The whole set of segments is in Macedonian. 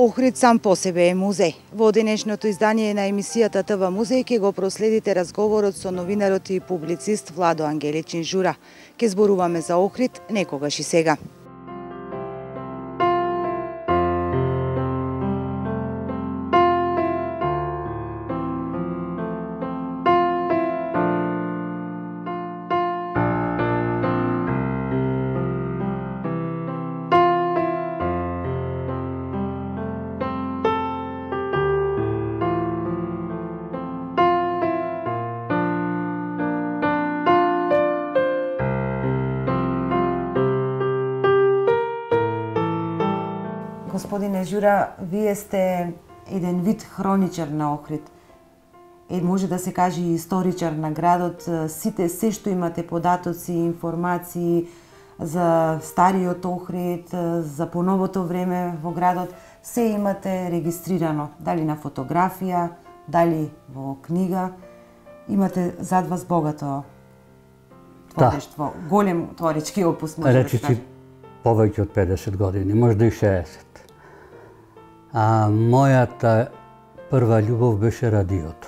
Охрид сам по себе е музеј. Во денешното издание на емисијата ТВ Музеј ќе го проследите разговорот со новинарот и публицист Владо Ангеличин Жура. Ке зборуваме за Охрид некогаш и сега. Господине Жура, вие сте еден вид хроничар на Охрид. Може да се каже и историчар на градот. Сите, се што имате податоци, информации за стариот Охрид, за поновото време во градот, се имате регистрирано. Дали на фотографија, дали во книга. Имате зад вас богато творештво. Голем творечки опус, може да се каже. Повеќе од 50 години, може и 60. А мојата прва љубов беше радиото.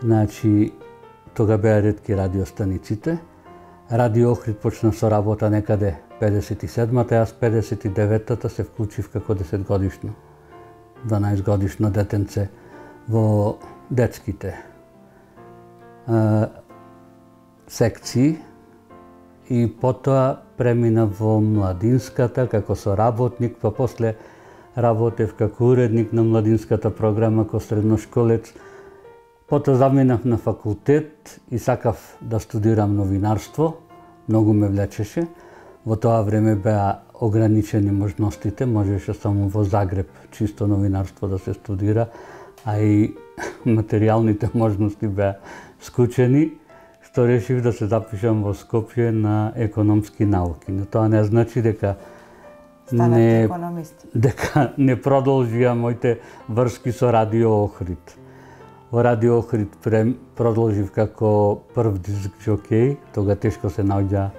Значи, тога беа ретки радиостаниците. Радио Охрид почна со работа некаде 57-та, јас 59-та се вклучив како 10-годишно, 12-годишно детенце во детските секции и потоа премина во младинската како соработник, па после работев како уредник на младинската програма како средношколец. Потоа заминав на факултет и сакав да студирам новинарство. Многу ме влечеше. Во тоа време беа ограничени можностите, можеше само во Загреб чисто новинарство да се студира, а и материјалните можности беа скучени, што решив да се запишам во Скопје на економски науки. Но тоа не значи дека не продолжија моите врски со Радио Охрид. Во Радио Охрид продолжив како прв диск џокеј, тога тешко се наоѓа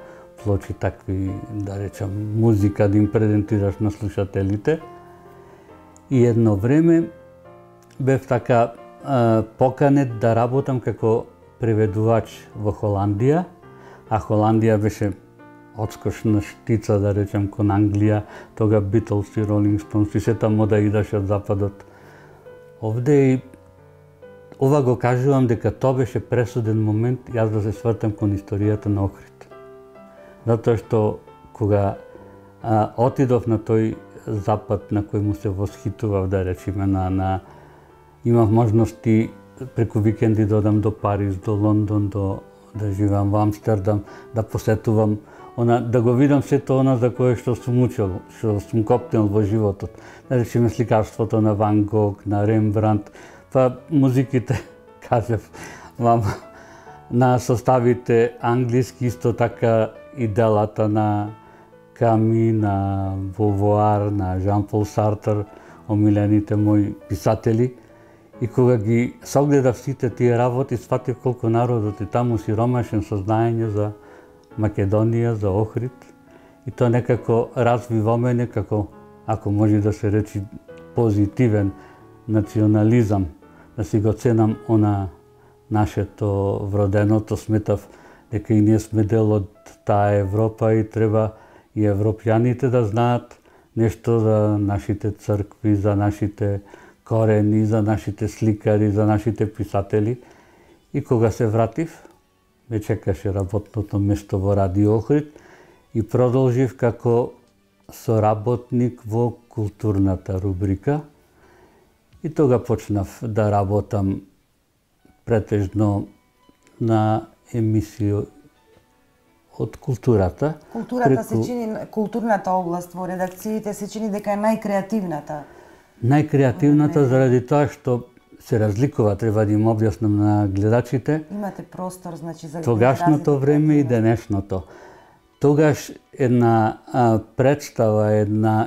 плочи такви, да речам, музика да им презентираш на слушателите. И едно време бев така поканет да работам како преведувач во Холандија, а Холандија беше одскочна штица, да речем, кон Англија, тога Битлз и Ролинг Стоунс и сета мода идаше од западот. Овде и ова го кажувам дека тоа беше пресуден момент јас да се свртам кон историјата на Охрид. Затоа што кога отидов на тој запад на кој му се восхитував, да речеме, имав можности преку викенди да одам до Париз, до Лондон, да живеам во Амстердам, да посетувам, да го видам сето она за кое што сум учел, што сум копнел во животот. Да речеме сликарството на Ван Гог, на Рембрандт, па музиките, кажев вам, на составите англиски, исто така и делата на Ками, на Бовоар, на Жан-Пол Сартер, омилените мои писатели. И кога ги согледав сите тие работи, сватив колку народот е таму сиромашен со знаење за Македонија, за Охрид. И тоа некако разви во мене како, ако може да се речи, позитивен национализам, да си го ценам она нашето вроденото. Сметав дека и ние сме дел од таа Европа и треба и европјаните да знаат нешто за нашите цркви, за нашите корени, за нашите сликари, за нашите писатели. И кога се вратив, ме чекаше работното место во Радио Охрид и продолжив како соработник во културната рубрика. И тога почнав да работам претежно на емисија од културата. Културата се чини, културната област во редакциите се чини дека е најкреативната. Најкреативната заради тоа што се разликува, треба да им објаснам на гледачите. Имате простор, значи, за тогашното време и денешното. Тогаш една представа,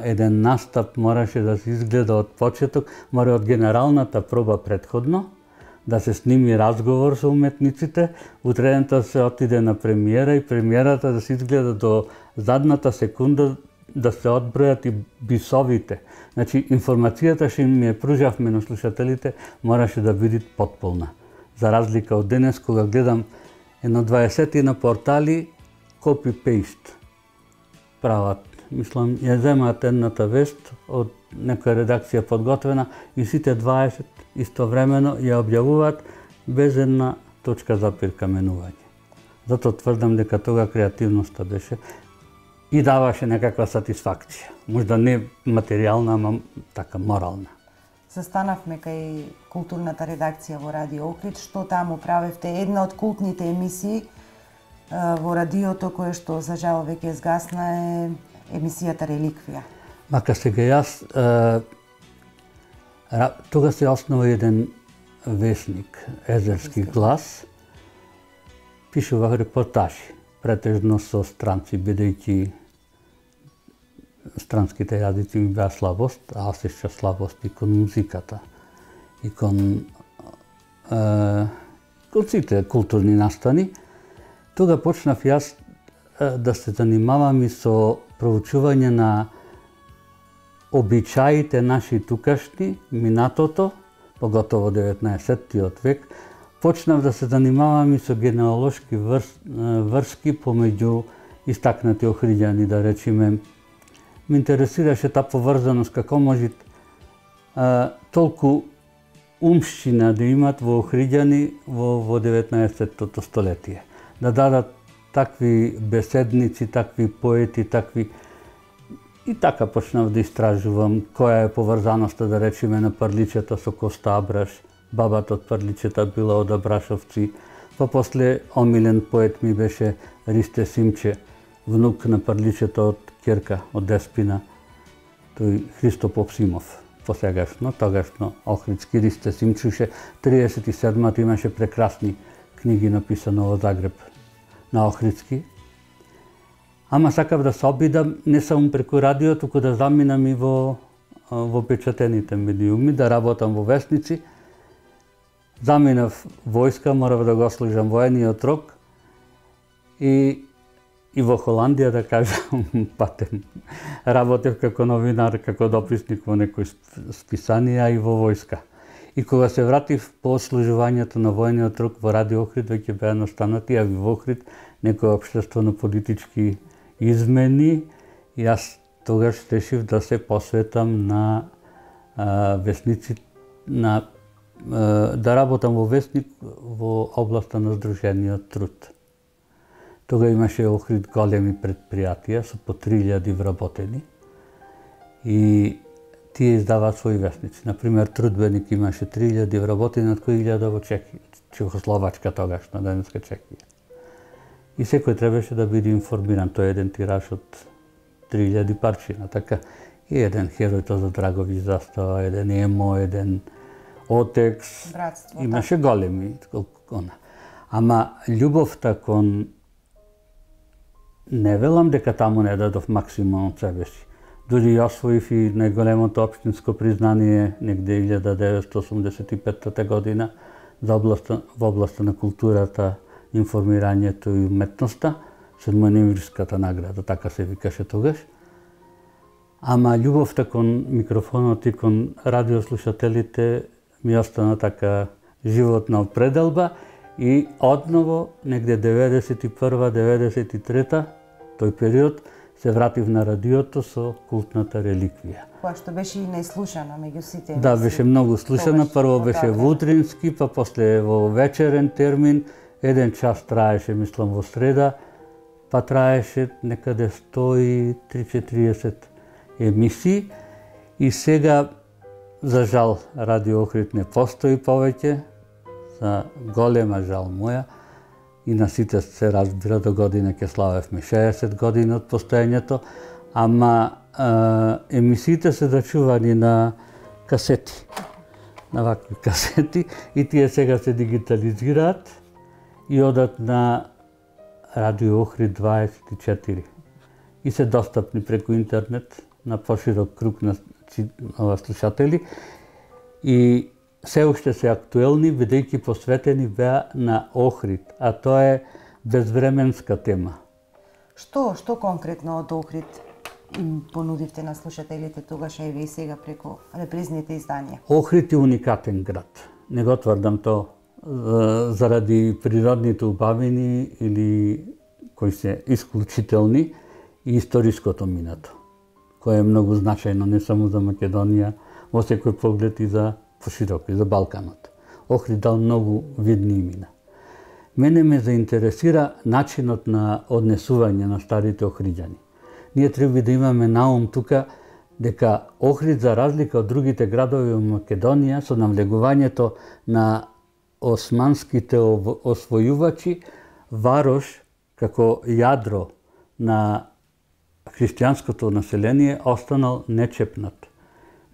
еден настап мораше да се изгледа од почеток, мора од генералната проба претходно, да се сними разговор со уметниците, утредента се отиде на премиера и премиерата да се изгледа до задната секунда да се одбројат и бисовите. Значи, информацијата што им ја пружавме на слушателите мораше да биде потполна. За разлика од денес, кога гледам едно 20 на портали, copy-paste прават. Мислам, ја земаат едната вест од некоја редакција подготвена и сите 20 истовремено ја објавуваат без една точка за прикаменување. Затоа тврдам дека тога креативноста беше и даваше некаква сатисфакција. Можда не материјална, ама така морална. Застанавме кај културната редакција во Радио Охрид. Што таму правевте? Една од култните емисии во радиото, кое што за жал веќе згасна, е емисијата Реликвија. Мака сега јас, тога се основа еден весник, Езерски глас, пишувах репортажи, претежно со странци, бидејќи странските јазици ми беа слабост, а осеќа слабост и кон музиката, и кон сите културни настани. Тога почнав јас да се занимавам и со проучување на обичаите наши тукашни, минатото, поготово 19-тиот век. Почнав да се занимавам и со генеалошки врски помеѓу истакнати охриѓани, да речеме. Ме интересираше таа поврзаност, како може толку умшчина да имат во охриѓани во 19-тото столетие. Да дадат такви беседници, такви поети, такви... И така почнав да истражувам која е поврзаноста, да речеме, на Прличета со Коста Абраш. Бабата од Прличета била од Абрашовци. Па после омилен поет ми беше Ристе Симче, внук на Прличета од Керка, од Деспина. Тој Христо Попсимов, посегашно, тогашно охридски Ристе Симчуше. 37-та имаше прекрасни книги написано во Загреб на охридски. Ама сакав да се обидам не само преку радио, туку да заминам и во печатените медиуми, да работам во весници. Заминав војска, морав да го служам воениот рок и во Холандија, да кажам, патем. Работев како новинар, како дописник во некои списанија и во војска. И кога се вратив по служувањето на воениот рок во Радио Охрид, веќе беа настанати, а во Охрид некои општествено-политички измени, и јас тогаш решив да се посветам на весници, да работам во весник во областа на здружениот труд. Тога имаше Охрид големи предпријатија со по 3000 вработени и тие издаваат своји весници. Например, Трудбеник имаше 3000 вработени, од кои 1000 во Чехија, Чехословачка тогашна, денеска Чехија. И секој требаше да биде информиран. Тој е еден тираж од 3000 парчина, така. И еден Херој за Драговиќ застава, еден Емо, еден Отекс. Братство, имаше големи. Ама љубовта кон... Не велам дека таму не дадов максимум од себе си. Дури ја освоив и најголемото општинско признание негде 1985 година за во областа на културата, информирањето и уметноста, Седмоноемвриската награда, така се викаше тогаш. Ама љубовта кон микрофонот и кон радиослушателите ми остана така животна пределба и одново негде 91-93 тој период се вратив на радиото со култната Реликвија. Која што беше и најслушана меѓу сите. Да, беше многу слушана. Прво беше во утрински, па после во вечерен термин. Еден час траеше, мислам, во среда, па траеше некаде 130-40 емисии. И сега, за жал, Радио Охрид не постои повеќе, за голема жал моја. И на сите се разбира, до година ќе славевме 60 години од постоењето, ама емисиите се зачувани на касети, на вакви касети, и тие сега се дигитализираат и одат на Радио Охрид 24 и се достапни преку интернет на поширок круг на слушатели и се уште се актуелни, бидејќи посветени беа на Охрид, а тоа е безвременска тема. Што конкретно од Охрид им понудивте на слушателите тогаш, а и сега преку репризните изданија? Охрид е уникатен град. Не го тврдам то заради природните убавини или кои се исклучителни и историското минато, кое е многу значајно не само за Македонија, во секој поглед и за пошироко, и за Балканот. Охрид дал многу видни имена. Мене ме заинтересира начинот на однесување на старите охриѓани. Ние треба да имаме наум тука дека Охрид, за разлика од другите градови во Македонија, со навлегувањето на османските освојувачи, Варош како јадро на христијанското население останал нечепнат.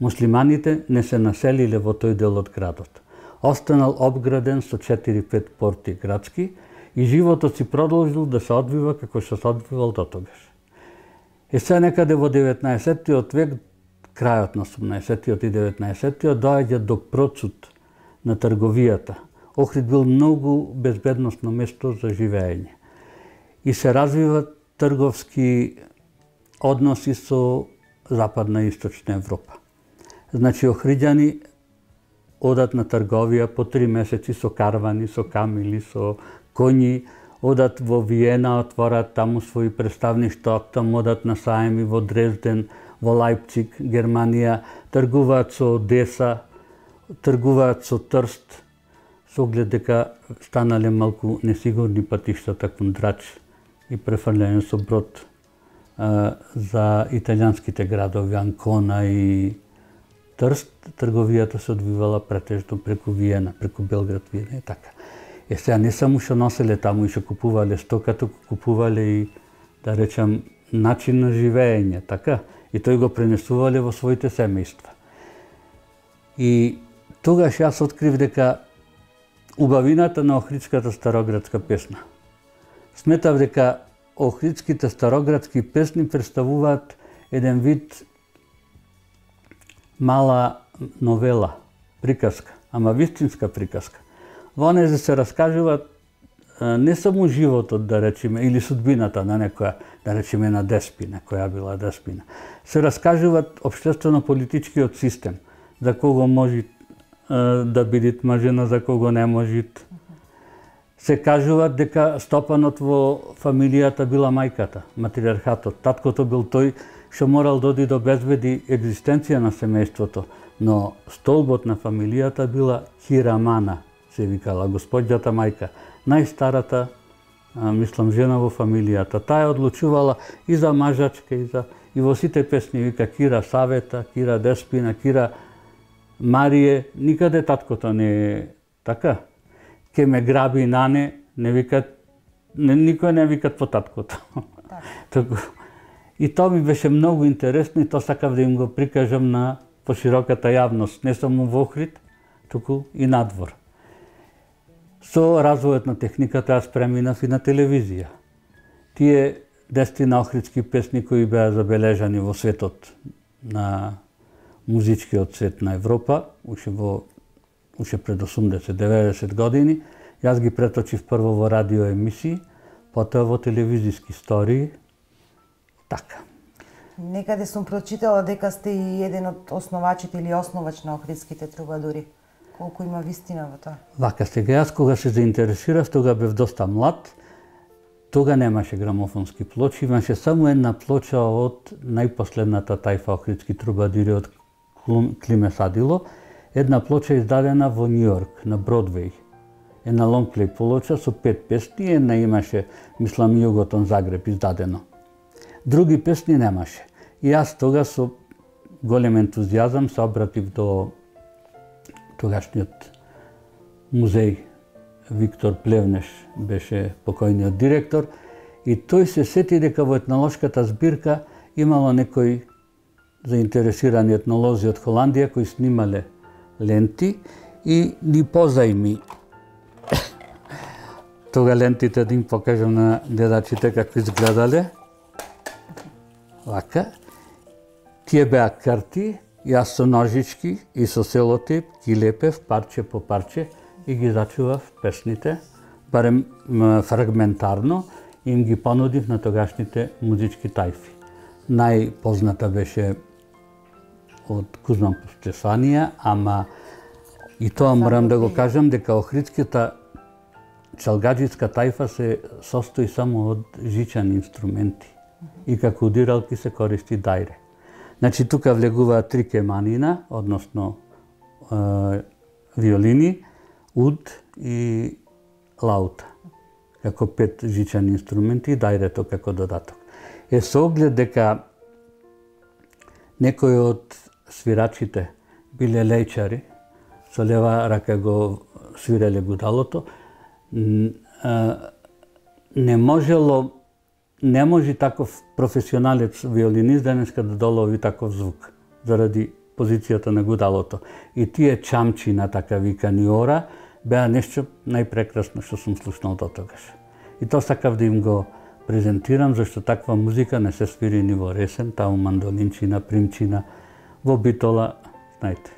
Муслиманите не се населиле во тој дел од градот. Останал обграден со 4-5 порти градски и животот си продолжил да се одвива како што се одвивал дотогаш. Се некаде во 19-тиот век, крајот на 18-тиот и 19-тиот, доаѓа до процут на трговијата. Охрид бил многу безбедносно место за живење. И се развиват трговски односи со Западна и Источна Европа. Значи, охриѓани одат на трговија по 3 месеци со карвани, со камили, со коњи, одат во Виена, отворат таму своји представништва, таму одат на саеми во Дрезден, во Лајпциг, Германија, тргуваат со Одеса, тргуваат со Трст, со оглед дека станале малку несигурни патиштата кон Драч и префрлење со брод за италијанските градови Анкона и Трст. Трговијата се одвивала претежно преку Виена, преку Белград, Виена и така. Сега не само што носеле таму и што купувале стока, туку купувале и, да речам, начин на живење, така? И тој го пренесувале во своите семејства. И тогаш јас открив дека убавината на охридската староградска песна. Сметав дека охридските староградски песни представуваат еден вид мала новела, приказка, ама вистинска приказка. Во неја се раскажуваат не само животот, да речеме, или судбината на некоја, да речеме, на деспина, која била деспина. Се раскажуваат општествено-политичкиот систем, за кого може да биде мажена, за кого не може. Се кажуваат дека стопанот во фамилијата била мајката, матриархатот. Таткото бил тој што морал да оди да обезбеди екзистенција на семејството, но столбот на фамилијата била Хирамана, се викала, господјата мајка, најстарата, мислам, жена во фамилијата. Таа одлучувала и за мажачка, и во сите песни вика Кира Савета, Кира Деспина, Кира Марие, никаде таткото не е така. Ке ме граби нане, не викат, никој не викат по таткото. И тоа ми беше многу интересно и тоа сакав да им го прикажам на пошироката јавност, не само во Охрид, туку и надвор. Со развојот на техниката јас преминав и на телевизија. Тие 10 охридски песни кои беа забележани во светот, на музичкиот свет на Европа, уште пред 80-90 години, јас ги преточив прво во радио емисии, потоа во телевизиски истории. Така. Некаде сум прочитала дека сте и еден од основачите или основач на охридските трубадури. Колку има вистина во тоа? Вака, сега јас кога се заинтересирав, тога бев доста млад, тога немаше грамофонски плочи, имаше само една плоча од најпоследната тајфа охридски трубадури од Климе Садило, една плоча издадена во Њујорк, на Бродвеј. Една лонгплей плоча со 5 песни, една имаше, мислам, Југотон Загреб издадено. Други песни немаше. И јас тога со голем ентузијазам се обратив до тогашниот музеј. Виктор Плевнеш беше покојниот директор и тој се сети дека во етнолошката збирка имало некои заинтересирани етнолози од Холандија кои снимале ленти и ни позајми тога лентите да им покажам на гледачите како изгледале. Вака. Тие беа карти, јас со ножички и со селотип ги лепев парче по парче и ги зачував песните, барем фрагментарно, им ги понудив на тогашните музички тајфи. најпозната беше од Кузман Стефанија, ама и тоа морам да го кажам дека охридската чалгаџиска тајфа се состои само од жичани инструменти и како удиралки се користи дајре. Значи тука влегуваат 3 кеманина, односно виолини, уд и лаута, како 5 жичани инструменти и дајрето како додаток. Со оглед дека некои од свирачите биле лејчари, со лева рака го свиреле гудалото, не може таков професионалец виолинист денеска да долови таков звук, заради позицијата на гудалото. И тие чамчи на така викани ора беа нешто најпрекрасно што сум слушнал до тогаш. И тоа сакав да им го презентирам, зашто таква музика не се свири ни во ресен, таму мандолинчина, примчина, во битола, знаете,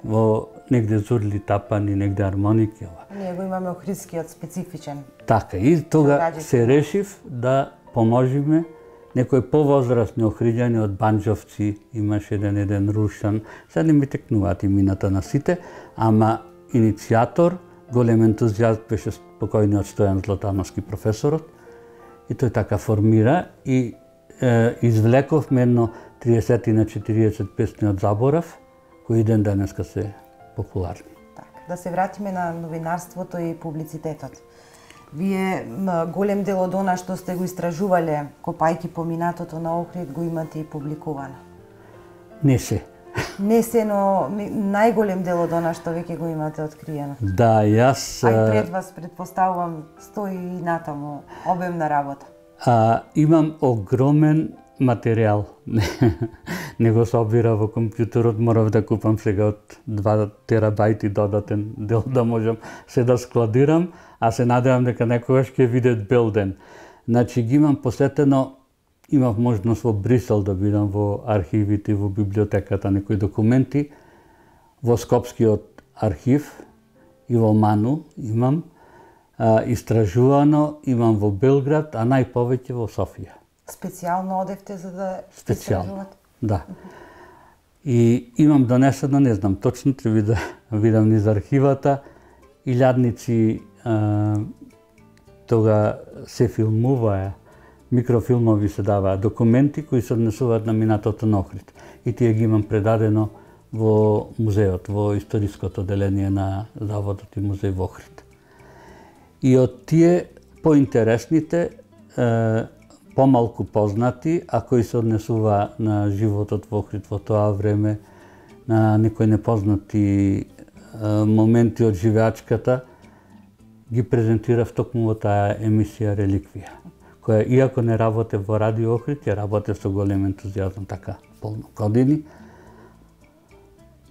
во негде зурли тапани, негде армоники. Ние го имаме охридскиот специфичен. Така, и тога се решив да поможиме некои повозрастни охриѓани од банџовци, имаше еден Рушан, сега не ми текнуваат имината на сите, ама иницијатор, голем ентузијаст беше покојниот Стојан Златановски професорот, и тој така формира и извлековме едно 30 на 40 песни од заборав, кои ден денеска се популарни. Так, да се вратиме на новинарството и публицитетот. Вие голем дел од она што сте го истражувале, копајки по минатото на Охрид, го имате и публикувано. Не се. Не се, но најголем дел од она што веќе го имате откриено. Да, јас... А и пред вас, предпоставувам, стои и натаму обемна работа. Имам огромен материјал. Не го собира во компјутерот, морав да купам сега од 2 терабајти додатен дел да можам се да складирам, а се надевам дека некогаш ќе видат бел ден. Значи ги имам посетено, имав можност во Брисел да бидам во архивите, во библиотеката некои документи, во Скопскиот архив и во Ману имам истражувано, имам во Белград, а најповеќе во Софија. Специјално одевте за да истражувате? Да. И имам донесено, не знам точно, треба да видам низ архивата, илјадници тога се филмуваа, микрофилмови се даваа, документи кои се однесуваат на минатото на Охрид. И тие ги имам предадено во музеот, во историското деление на Заводот и музеј во Охрид. И од тие поинтересните, помалку познати, а кои се однесува на животот во Охрид во тоа време, на некои непознати моменти од живеачката, ги презентирав токму во таа емисија Реликвија, која иако не работе во Радио Охрид, ја работе со голем ентузијазм така полно години.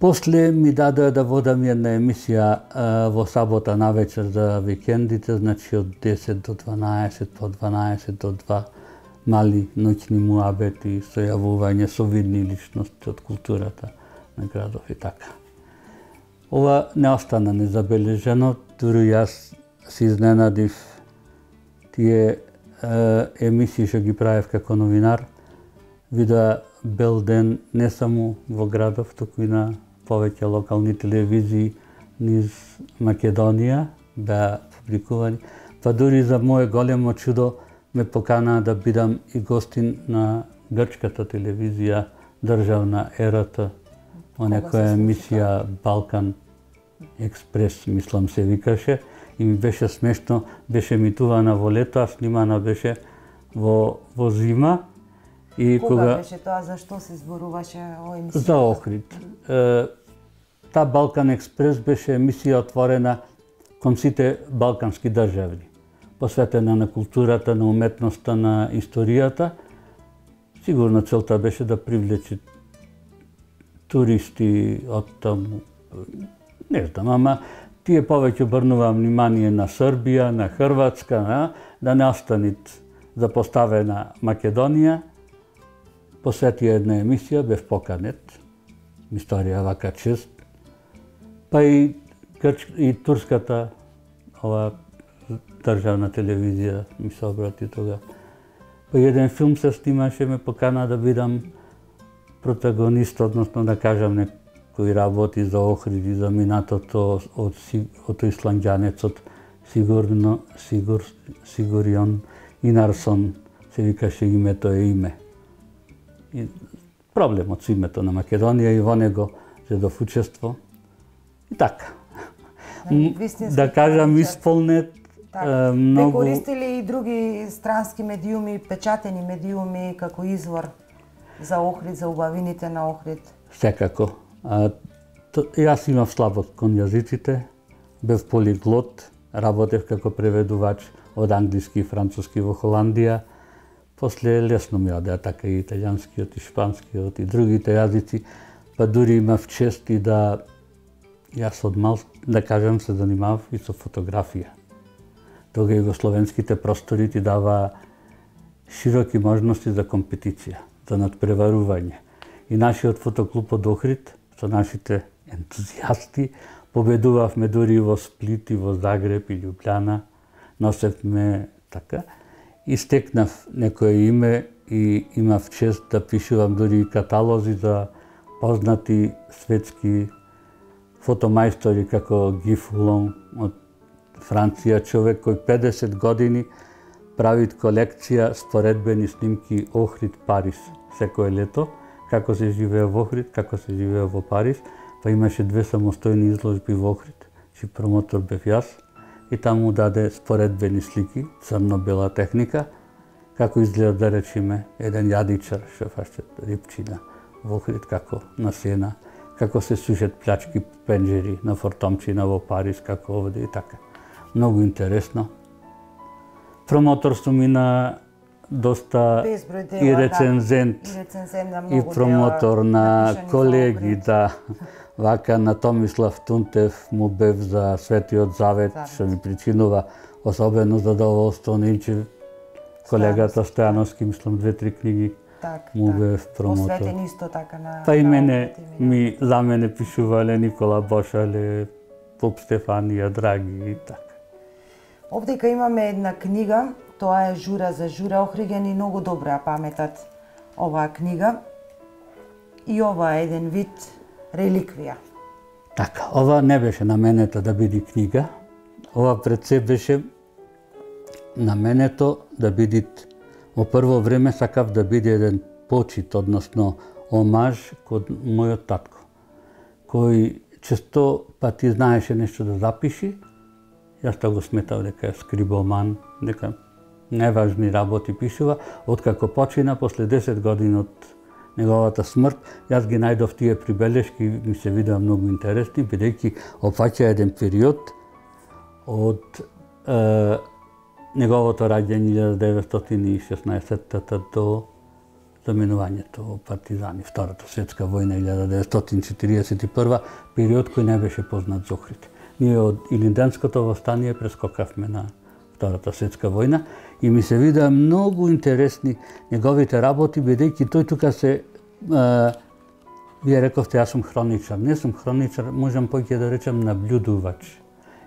После ми дадоа да водам една емисија во сабота навечер за викендите, значи од 10 до 12, по 12 до 2, мали ноќни муабети, сојавување со видни личности од културата на градов и така. Ова не остана незабележено, дури јас се изненадив тие емисии што ги правев како новинар, видоа бел ден не само во градов, туку и на повеќе локални телевизии низ Македонија беа публикувани. Па дури за моје големо чудо ме поканаа да бидам и гостин на грчката телевизија државна РТ, во некоја емисија Балкан Експрес, мислам се викаше, и ми беше смешно, беше емитувана во лето, а снимана беше во зима. И кога беше тоа, зашто се зборуваше о емисија? За Охрид. Та Балкан Експрес беше емисија отворена кон сите балкански држави, посветена на културата, на уметноста, на историјата. Сигурно целта беше да привлече туристи од таму, не знам, ама тие повеќе обрнуваа внимание на Србија, на Хрватска, да не останит запоставена Македонија. Посвети една емисија, бев поканет, историја вака чест, па и турската ова државна телевизија ми се обрати тога. Па еден филм се снимаше, ме покана да бидам протагонист, односно да кажам некој работи за Охрид и за минатото од исланѓанецот Сигурион Инарсон, се викаше името е име. И проблемот со името на Македонија и во него зедов учество. И така. Да кажам, исполнет многу... Ве користили и други странски медиуми, печатени медиуми како извор за Охрид, за убавините на Охрид? Секако. Јас имав слабост кон јазиците, бев полиглот, работев како преведувач од англиски и француски во Холандија. После лесно ми одеа така и италијанскиот, и шпанскиот, и другите јазици, па дури имав чест и да јас од мал, да кажам, се занимавав и со фотографија. Тога југословенските простори ти дава широки можности за компетиција, за надпреварување. И нашиот фотоклуб од Охрид, со нашите ентузијасти, победувавме дури во Сплит, и во Загреб, и Љубљана, носевме така. И стекнав некое име и имав чест да пишувам дури и каталози за познати светски фотомајстори како Ги Фулон од Франција, човек кој 50 години прави колекција споредбени снимки Охрид, Париз секое лето, како се живее во Охрид, како се живее во Париз, па имаше 2 самостојни изложби во Охрид, чи промотор бев јас, и таму даде споредбени слики, црно-бела техника, како изгледа, да речеме, еден јадичар што фаќа рипчина во Охрид, како на Сена, како се сушат плячки пенџери на Фортомчина во Париз, како овде и така. Многу интересно. Промотор сум и на доста и рецензент, и промотор на колеги, да. Вака на Томислав Тунтев му бев за Светиот Завет, што ми причинува особено задоволство. Нинче колегата Стојановски, мислам 2-3 книги му бев промотор. Посветен исто така на... Па и за мене пишувале Никола Бошале, Поп Стефанија, Драги и така. Овдека имаме една книга, тоа е Жура за Жура. Охриѓани многу добро ја паметат оваа книга. И ова е еден вид реликвија. Така, ова не беше наменета да биде книга. Ова пред се беше наменето да биде, во прво време сакав да биде еден почит, односно омаж кон мојот татко, кој често пати знаеше нешто да запиши. Јас тоа го сметав дека е скрибоман, дека неважни работи пишува. Откако почина, после 10 години од неговата смрт, јас ги најдов тие прибелешки и ми се видеа многу интересни, бидејќи опфаќа еден период од неговото раѓање 1916 до заминувањето во партизани, Втората светска војна 1941, период кој не беше познат за Охрид. Ние од Илинденското востание прескокавме на Втората светска војна и ми се видеа многу интересни неговите работи, бидејќи тој тука се вие рековте јас сум хроничар. Не сум хроничар, можам поќе да речем наблюдувач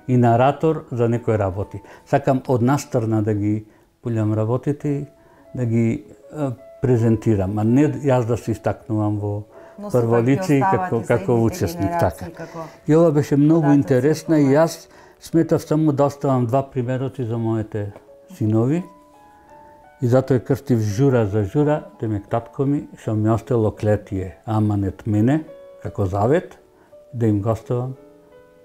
и наратор за некои работи. Сакам од настрана да ги пулјам работите, да ги презентирам, а не јас да се истакнувам во прво лице како учесник. Така. И ова беше многу интересна и јас сметав само да оставам 2 примероци за моите синови. И затоа крстив Жура за Жура, демек татко ми, што ми остело клетие, аманет мене, како завет, да им го оставам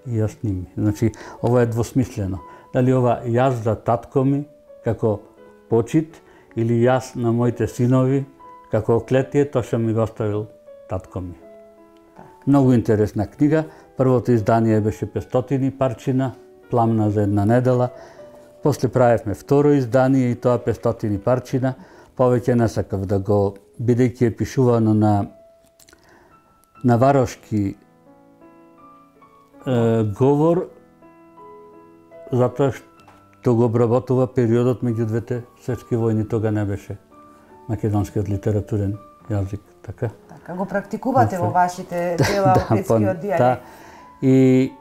и јас ними. Значи, ова е двосмислено. Дали ова јас за татко ми, како почит, или јас на моите синови, како клетие, тоа што ми го оставил татко ми. Многу интересна книга. Првото издание беше 500 парчина, пламна за една недела. После правевме второ издание и тоа 500 парчина. Повеќе не сакав да го, бидејќи е пишувано на варошки говор, затоа што го обработува периодот меѓу двете светски војни. Тога не беше македонскиот литературен јазик, така? Така, го практикувате во вашите дела, охридскиот дијалект. И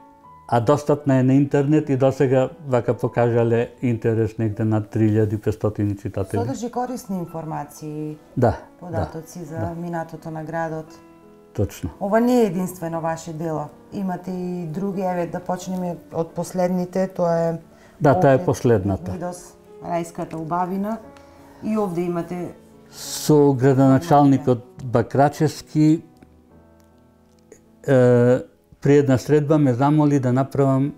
а достапна е на интернет и досега вака покажале интерес негде над 3500 читатели. Содржи корисни информации, Да, податоци за минатото на градот. Точно. Ова не е единствено ваше дело. Имате и други, еве да почнеме од последните, тоа е Да, таа е последната. Мидос, Рајската убавина. И овде имате Со градоначалникот Бакрачевски при една средба ме замоли да направам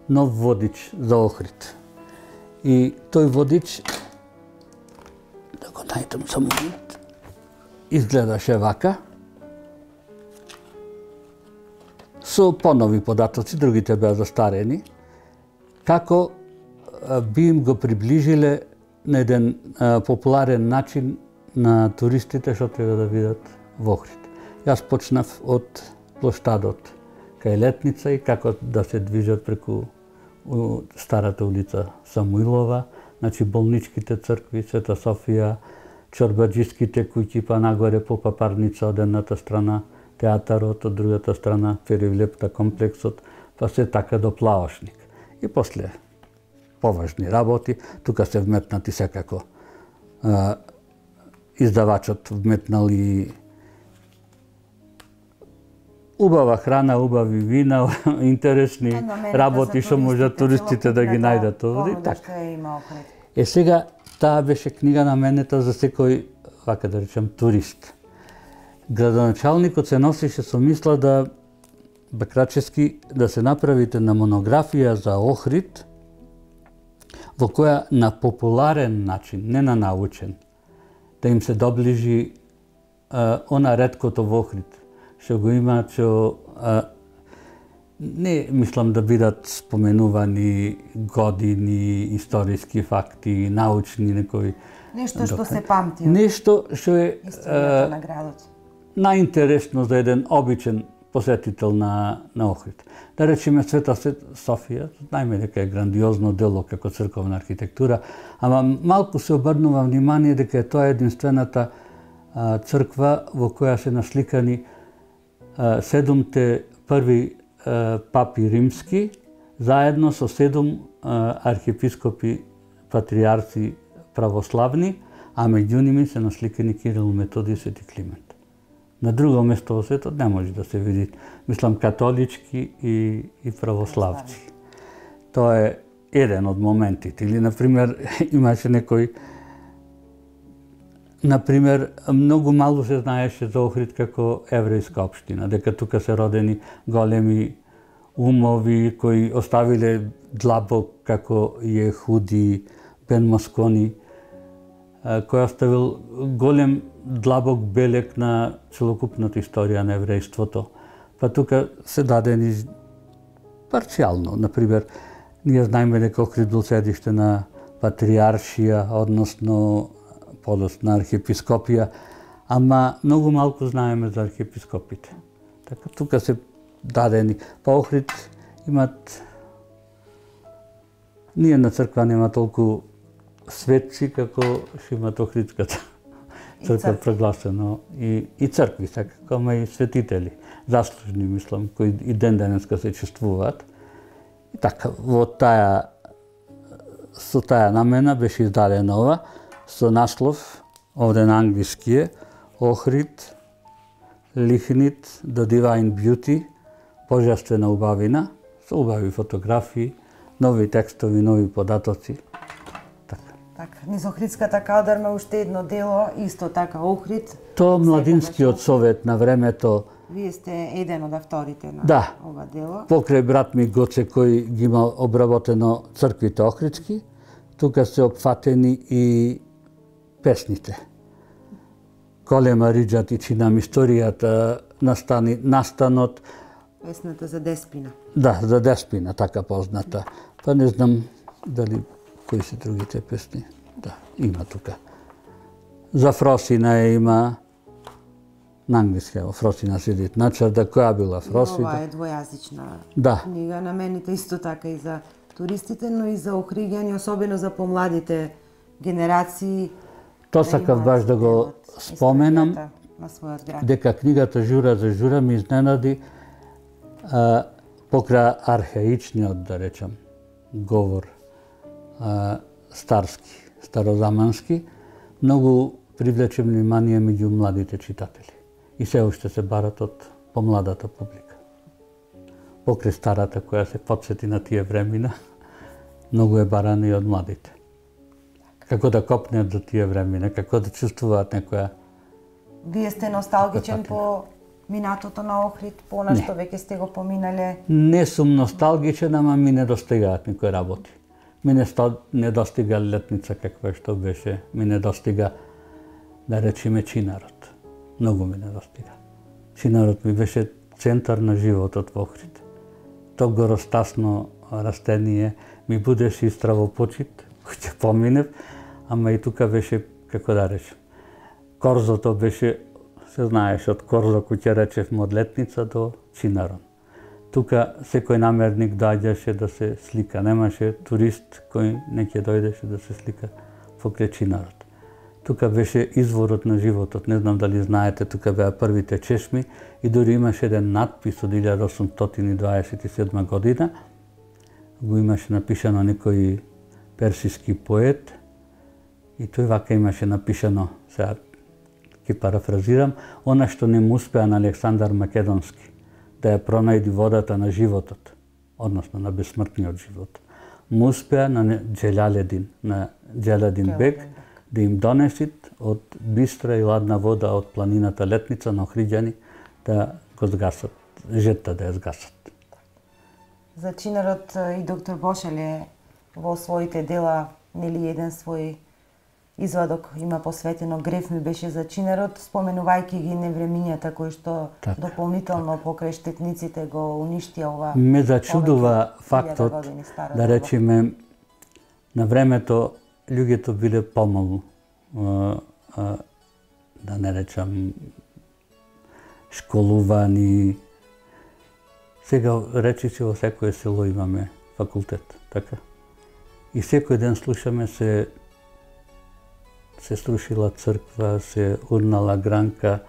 нов водич за Охрид. И тој водич, да го најдам за момент, изгледаше вака, со понови податоци, другите беа застарени, како би им го приближиле на еден популарен начин на туристите што треба да видат во Охрид. Јас почнав од плоштадот кај Летница и како да се движат преку старата улица Самуилова, значи болничките цркви, Света Софија, чорбаџиските куќи, па нагоре по Папарница од едната страна, театарот од другата страна, Перивлепта комплексот, па се така до Плаошник. И после поважни работи, тука се вметнати секако издавачот вметнал и убава храна, убави вина, интересни работи што можат туристите да ги најдат овде. Така. Сега таа беше книга наменета за секој, вака да речем, турист. Градоначалникот се носише со мисла да Бакрачевски да се направите на монографија за Охрид, во која на популарен начин, не на научен, да им се доближи она реткото во Охрид, што го има, што не мислам да бидат споменувани години, историски факти, научни некои. Нешто што се памти. Нешто што е историјата на градот. Најинтересно за еден обичен посетител на Охрид. Да речеме Света Софија, знаеме дека е грандиозно дело како црковна архитектура, ама малку се обрнува внимание дека е тоа единствената црква во која се насликани 7 први папи римски, заедно со 7 архиепископи патриарци православни, а меѓу ними се насликани Кирил, Методи и Свети Климент. На друго место во светот не може да се види, мислам, католички и православци. Тоа е еден од моментите. Или, например, имаше некој, например, многу мало се знаеше за Охрид како еврејска општина, дека тука се родени големи умови кои оставиле длабок како Јехуди, Бен Москони, кој оставил голем длабок белек на целокупната историја на еврејството. Па тука се дадени парцијално. Например, ние знаеме дека Охрид бил седиште на патриаршија, односно подосна архиепископија, ама многу малку знаеме за архиепископите. Така тука се дадени. Па Охрид имат... Ние на црква нема толку светци како што имат Охридската црква прогласено и цркви секако, ама и светители, заслужни мислам, кои и ден денеска се чествуваат. И така, со таа намена беше издадена ова со наслов, овде на англиски е, Охрид, Лихнит, The Divine Beauty, Божествена убавина, со убави фотографии, нови текстови, нови податоци. Така, низ Охридската калдарма уште едно дело, исто така Охрид. Тоа Младинскиот совет на времето. Вие сте еден од авторите на ова дело. Покрај брат ми Гоце кој ги има обработено црквите Охридски, тука се опфатени и песните. Голема риџа тичинам историјата, настанот. Песната за Деспина. Да, за Деспина, така позната. Па не знам дали кои се другите песни. Да, има тука. За Фросина има на англиски, Фросина седит на чарда, која била Фросина. Ова е двојазична книга, наменета исто така и за туристите, но и за охриѓани, особено за помладите генерации. Тоа сакав баш да го споменам, дека книгата Жура за Жура ми изненади Покра архаичниот, да речам, говор, старски, старозамански, многу привлече внимание меѓу младите читатели. И се уште се барат од помладата публика. Покрај старата која се потсети на тие времена, многу е барана и од младите. Како да копнеат за тие времена, како да чувствуваат некоја... Вие сте носталгичен по минатото на Охрид, по она што веќе сте го поминале? Не сум носталгичен, ама ми недостигаат некои работи. Ми не достига летница каква што беше, ми недостига, да речеме, Чинарот. Многу ми недостига. Чинарот ми беше центар на животот во Охрид. То горостасно растение ми будеше и стравопочит, кој ќе поминев, ама и тука беше, како да речем, Корзото беше, се знаеш, од Корзо кој ќе речевме од Летница до Чинарон. Тука секој намерник доаѓаше да се слика, немаше турист кој не ќе дојдеше да се слика покрај Чинарот. Тука беше изворот на животот, не знам дали знаете, тука беа првите чешми и дури имаше еден надпис од 1827 година, го имаше напишано некој персиски поет и тој вака имаше напишано, сега ќе парафразирам, она што не му успеа на Александар Македонски, да ја пронајди водата на животот, односно на бесмртниот живот. Му успеа на Джелаледин, на Джелаледин бек, да им донесит од бистра и ладна вода од планината Летница на Охриѓани да го згасат, жетта да ја згасат. За Чинарот и доктор Бошале во своите дела, нели еден свој извадок има посветено, Греф ми беше за Чинарот, споменувајќи ги невремињата кои што дополнително покрај штетниците го уништија ова. Ме зачудува фактот, да речеме, на времето луѓето биле помалу, да не речам, школувани. Сега речиси во секое село имаме факултет, така? И секој ден слушаме се струшила црква, се урнала гранка,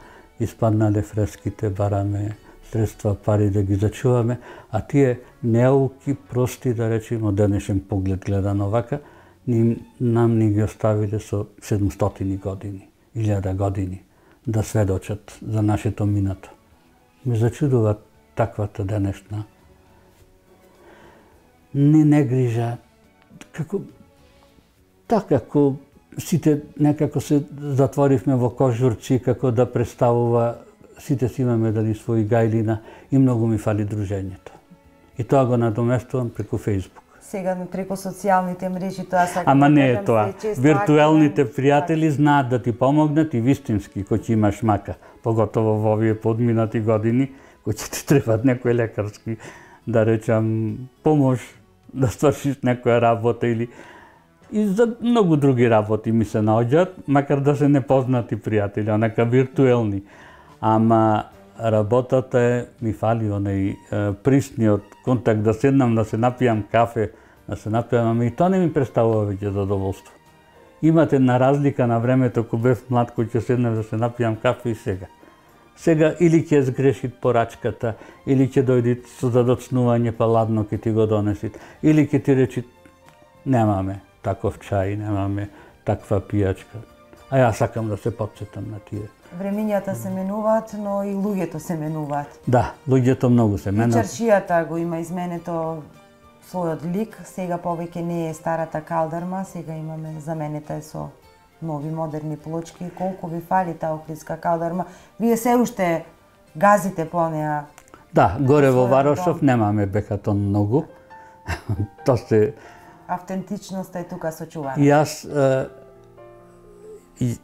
испаднале фреските, бараме средства, пари да ги зачуваме, а тие неуки, прости, да речем, од денешен поглед гледано вака, нам ни ги оставиле со 700 години, 1000 години, да сведочат за нашето минато. Ме зачудува таквата денешна не грижа, како сите некако се затворивме во кожурци, како да представува, сите си имаме дали своји гајлина и многу ми фали дружењето. И тоа го надоместувам преку Фејсбук. Сега преку социјалните мрежи тоа сакам. Ама не е тоа. Виртуелните пријатели знаат да ти помогнат и вистински, кој ќе имаш мака, поготово во овие подминати години, кој ќе ти требат некој лекарски, да речам, помош да свршиш некоја работа или и за многу други работи ми се наоѓаат, макар да се непознати пријатели, онака виртуелни. Ама работата ми фали онај присниот контакт, да седнам, да се напијам кафе, да се напијам, ама и тоа не ми представува веќе задоволство. Имате на разлика на времето кога бев млад, кој ќе седнем да се напијам кафе и сега. Сега или ќе сгрешит порачката, или ќе дојди со задоцнување па ладно ќе ти го донесит, или ќе ти речи немаме таков чај, немаме таква пијачка. А јас сакам да се потсетам на тие. Времињата се менуваат, но и луѓето се менуваат. Да, луѓето многу се менуваат. И чаршијата го има изменето својот лик, сега повеќе не е старата калдарма, сега имаме, заменета е со нови модерни плочки. Колку ви фали таа охридска калдарма? Вие се уште газите по неа? Да, горе во Варошов немаме бекатон многу. Тоа се автентичноста е тука сочувана. И јас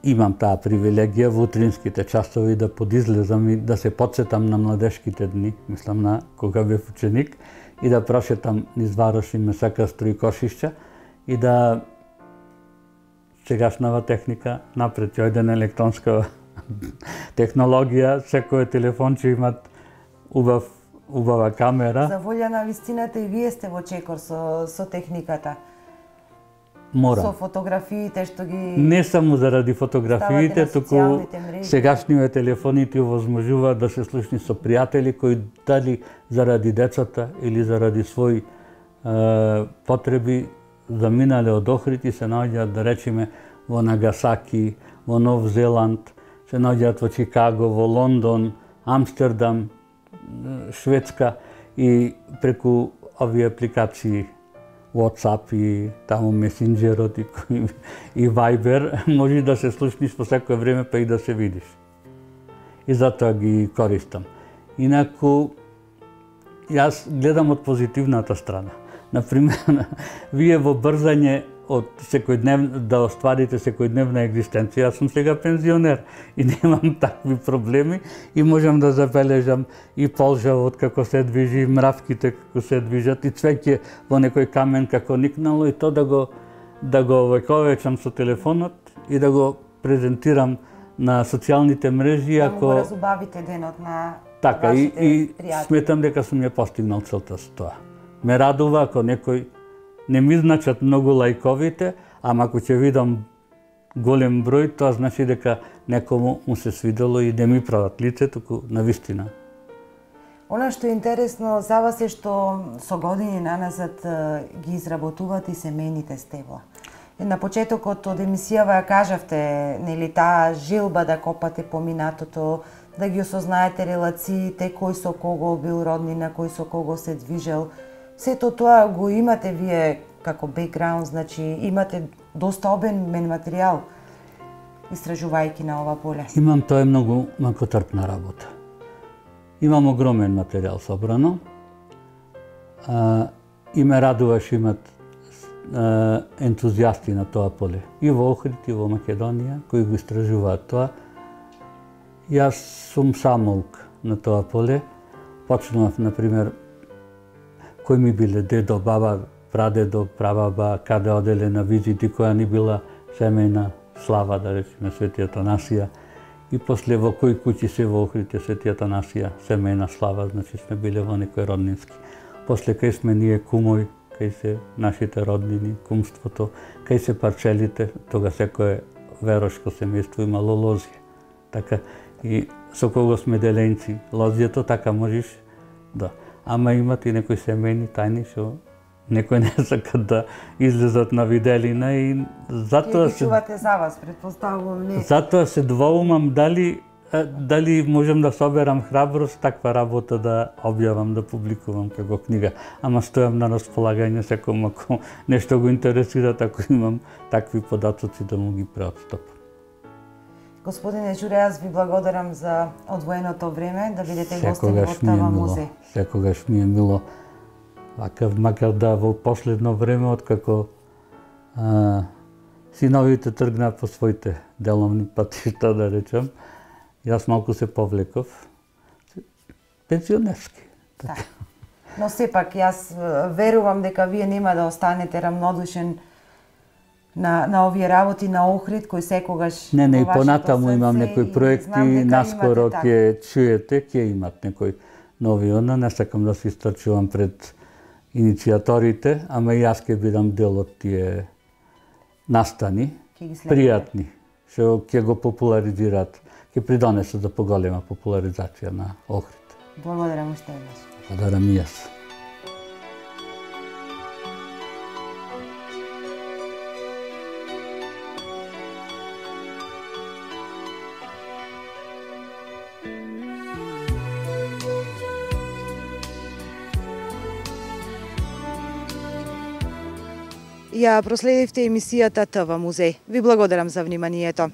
имам таа привилегија во утринските часови да подизлезам и да се потсетам на младешките дни, мислам на кога бев ученик, и да прошетам низ Варош и Месака Стројкошишќа и да сегашнава техника напред, јојден електронска технологија, секој телефонче имат убава камера. За волја на вистината и вие сте во чекор со техниката. мора. Со фотографиите што ги Не само заради фотографиите, ставате на туку социјалните мрежи. сегашниве телефони ти овозможуваат да се слушни со пријатели кои дали заради децата или заради своји потреби заминале од Охрид и се наоѓаат, да речеме, во Нагасаки, во Нов Зеланд, се наоѓаат во Чикаго, во Лондон, Амстердам, Шведска, и преку овие апликации WhatsApp и таму Месенџерот и Viber може да се слушниш по секое време, па и да се видиш. И затоа ги користам. Инаку, јас гледам од позитивната страна. Например, вие во брзање од да остварите секојдневна екзистенција. Јас сум сега пензионер и немам такви проблеми и можам да забележам и полжавот како се движи, и мравките како се движат, и цвеќе во некој камен како никнало, и то да го овековечам со телефонот и да го презентирам на социјалните мрежи. Да го разубавите денот на така, вашите и пријатели. сметам дека сум ја постигнал целта со тоа. Ме радува ако некој не ми значат многу лајковите, ама ако ќе видам голем број, тоа значи дека некому му се свидело и не ми прават лице, туку навистина. Она што е интересно за вас е што со години наназад ги изработувате и семејните стебла. На почетокот од емисијава ја кажавте, нели, таа желба да копате по минатото, да ги осознаете релациите, кој со кого бил роднина, кој со кого се движел. Сето тоа го имате вие како бекграунд, значи имате доста обемен материјал истражувајќи на ова поле. Имам, тоа е многу макотрпна работа. Имам огромен материјал собрано и ме радуваш имат ентузијасти на тоа поле. И во Охрид, и во Македонија, кои го истражуваат тоа. Јас сум самоук на тоа поле. Почнував, например, кои ми биле дедо, баба, прадедо, прабаба, каде оделе на визити, која ни била семејна слава, да речеме, Свети Атанасија. И после во кои куќи се во Охрид е Свети Атанасија, семејна слава, значи сме биле во некој роднински. После кај сме ние кумови, кај се нашите роднини, кумството, кај се парчелите, тога секое верошко семејство имало лозија. Така, и со кого сме деленци, лозијето, така можеш да. Ама имат и некои семејни тајни што некој не сакат да излезат на виделина и затоа се чувате за вас, претпоставувам, не. Затоа се двоумам дали можам да соберам храброст таква работа да објавам, да публикувам како книга. Ама стојам на располагање секој ако нешто го интересира, ако имам такви податоци да му ги преотстапам. Господине Џуре, јас ви благодарам за одвоеното време, да бидете гостин во ТВ музеј. Секогаш ми е мило, макар да во последно време, откако синовите тргнаа по своите деловни патишта, да речам, јас малку се повлеков, пенсионерски. Така. Но сепак, јас верувам дека вие нема да останете рамнодушен на овие работи на Охрид, кој секогаш... Не, и понатаму имам некои проекти, наскоро ќе чуете, ќе имат некои нови она, не сакам да се истрчувам пред иницијаторите, ама и јас ќе бидам дел од тие настани, пријатни, што ќе го популаризираат, ќе придонесат за поголема популаризација на Охрид. Благодарам уште еднаш. Благодарам и јас. Ја проследивте емисијата ТВ музеј. Ви благодарам за вниманието.